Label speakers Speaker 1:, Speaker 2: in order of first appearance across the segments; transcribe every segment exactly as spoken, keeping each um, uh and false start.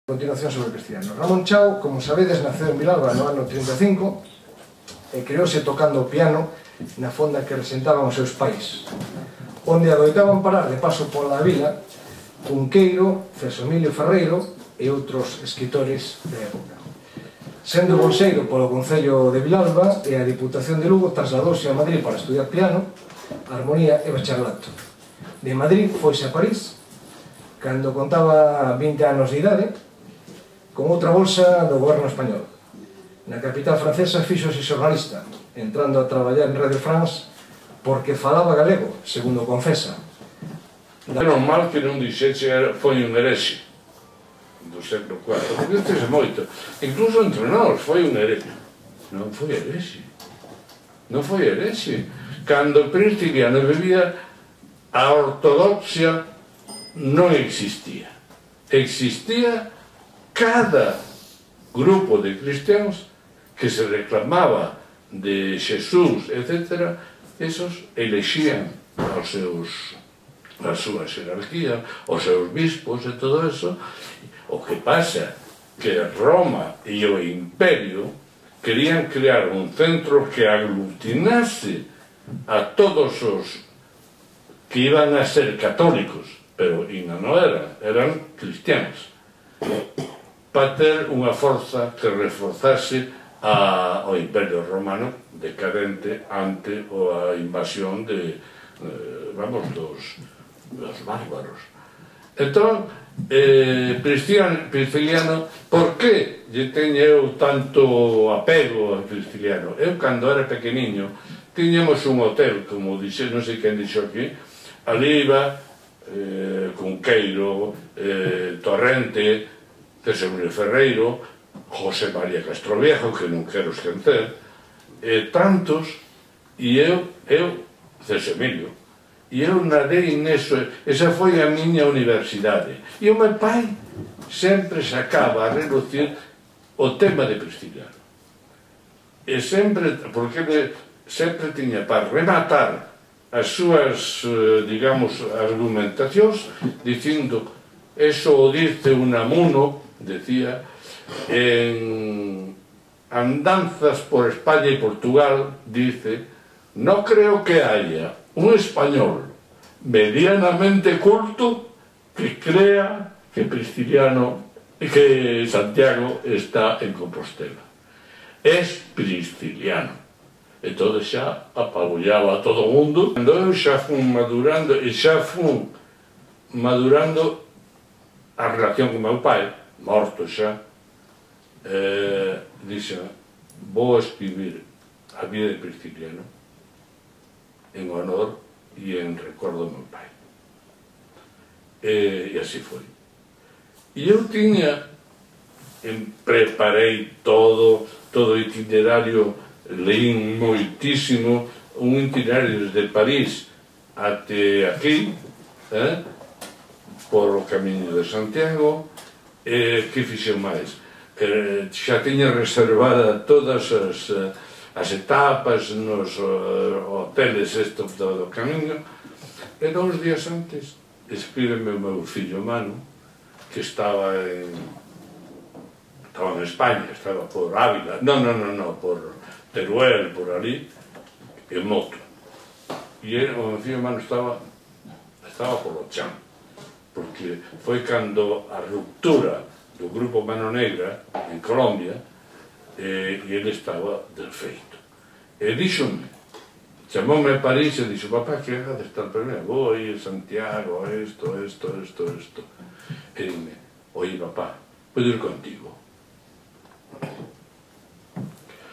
Speaker 1: A continuación sobre Cristiano. Ramón Chao, como sabedes, naceu en Vilalba no ano trinta e cinco e creouse tocando o piano na fonda que resentaban os seus pais, onde adoitaban parar de paso pola vila Cunqueiro, Celso Emilio Ferreiro e outros escritores da época. Sendo bolseiro polo Concello de Vilalba e a Diputación de Lugo, trasladouse a Madrid para estudiar piano, armonía e bacharelato. De Madrid foise a París, cando contaba vinte anos de idade, con outra bolsa do goberno español. Na capital francesa fíxose xornalista, entrando a traballar en Radio France porque falaba galego, segundo confesa.
Speaker 2: Menos mal que non dixeche foi un herexe do século cuarto, porque este é moito. Incluso entre nós foi un herexe. Non foi herexe. Non foi herexe. Cando Prisciliano vivía, a ortodoxia non existía. Existía cada grupo de cristianos que se reclamaba de Xesús, etcétera, esos elexían aos seus, a súa xerarquía, os seus bispos e todo eso. O que pasa que Roma e o Imperio querían crear un centro que aglutinase a todos os que iban a ser católicos, pero ainda non eran, eran cristianos, para ter unha forza que reforzase a, ao Imperio Romano decadente ante a invasión de, eh, vamos, dos, dos bárbaros. Entón, eh, Prisciliano, por que lle teño eu tanto apego a Prisciliano? Eu, cando era pequeniño, tiñamos un hotel, como dixe, non sei quen dixo aquí, ali iba eh, Cunqueiro, eh, Torrente, Celso Emilio Ferreiro, José María Castroviejo, que non quero esquecer, e tantos, e eu, eu, Celso Emilio, e eu nadei neso, esa foi a miña universidade. E o meu pai sempre sacaba a relucir o tema de Prisciliano. E sempre, porque ele sempre tiña para rematar as súas, digamos, argumentacións, dicindo, eso o dice Unamuno, decía, en Andanzas por España y Portugal, dice, no creo que haya un español medianamente culto que crea que Prisciliano, que Santiago está en Compostela. Es Prisciliano. Entón xa apabullaba a todo o mundo. Cando eu xa fun madurando, e xa fun madurando a relación con meu pai, morto xa, eh, dixen, vou escribir a vida de Prisciliano en honor e en recordo do meu pai. E, e así foi. E eu tiña, en, preparei todo, todo o itinerario, leín moitísimo, un itinerario desde París até aquí, eh, por o camiño de Santiago. E que fixen máis? Eh, xa tiña reservada todas as, as etapas nos uh, hoteles estos do, do camiño, e dous días antes escríbeme o meu fillo Manu, que estaba en estaba en España, estaba por Ávila, non, non, non, non, por Teruel, por ali, en moto. E o meu fillo Manu estaba estaba por o chan, porque foi cando a ruptura do grupo Mano Negra en Colombia, e ele estaba desfeito. E díxome, chamoume a París e dixo, papá, que haga de estar primeiro? Vou ir a Santiago, isto, isto, isto, isto. E dime, oye, papá, podo ir contigo?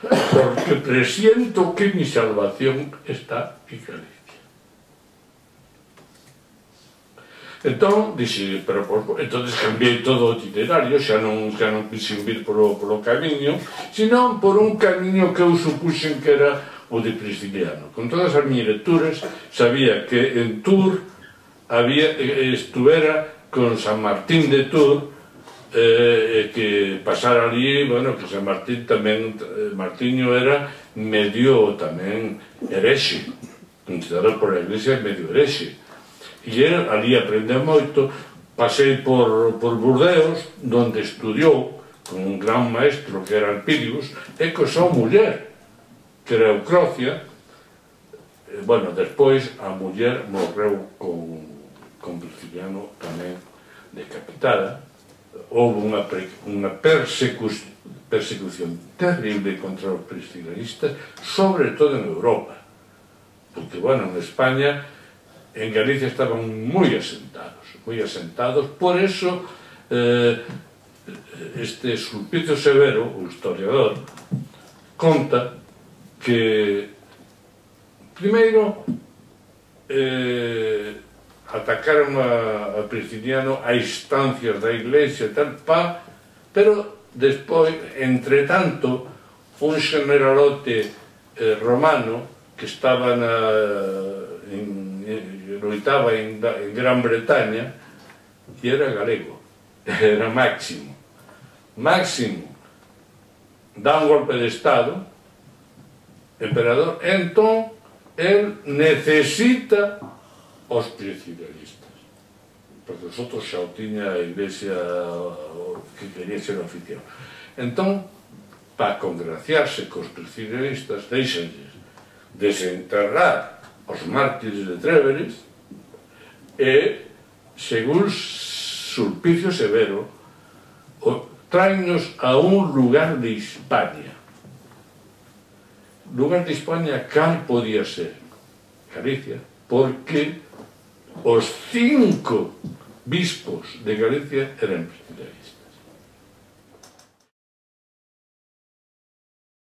Speaker 2: Porque presiento que mi salvación está en Galicia. Entón, dixe, pero por, entonces cambiei todo o itinerario, xa non, xa non quixen vir polo, polo camiño, senón por un camiño que eu supuxen que era o de Prisciliano. Con todas as miñas lecturas, sabía que en Tours había, estuvera con San Martín de Tours, eh, que pasara ali, bueno, que San Martín tamén, Martiño era medio tamén herexe, considerado por a Iglesia medio herexe. E ali aprendeu moito pasei por, por Burdeos, donde estudiou con un gran maestro que era Alpidius, e co súa muller, que era Eucrocia. Bueno, despois a muller morreu con, con Prisciliano tamén decapitada. Houve unha, unha persecución, persecución terrible contra os priscilianistas, sobre todo en Europa, porque, bueno, en España, en Galicia estaban moi asentados, moi asentados. Por eso, eh, este Sulpicio Severo, o historiador, conta que primeiro eh, atacaron a, a Prisciliano a instancias da Iglesia e tal, pa, pero despois, entre tanto, un generalote eh, romano que estaba na, en, loitaba en, en Gran Bretaña, e era galego, era Máximo. Máximo dá un golpe de Estado, emperador, e entón el necesita os priscilianistas, porque os outros xa o tiña a Iglesia que quería ser oficial. Entón, para congraciarse cos priscilianistas, deixanlles desenterrar os mártires de Tréveris e, según Sulpicio Severo, traennos a un lugar de Hispania. Lugar de Hispania, cal podía ser? Galicia, porque os cinco bispos de Galicia eran priscilianistas.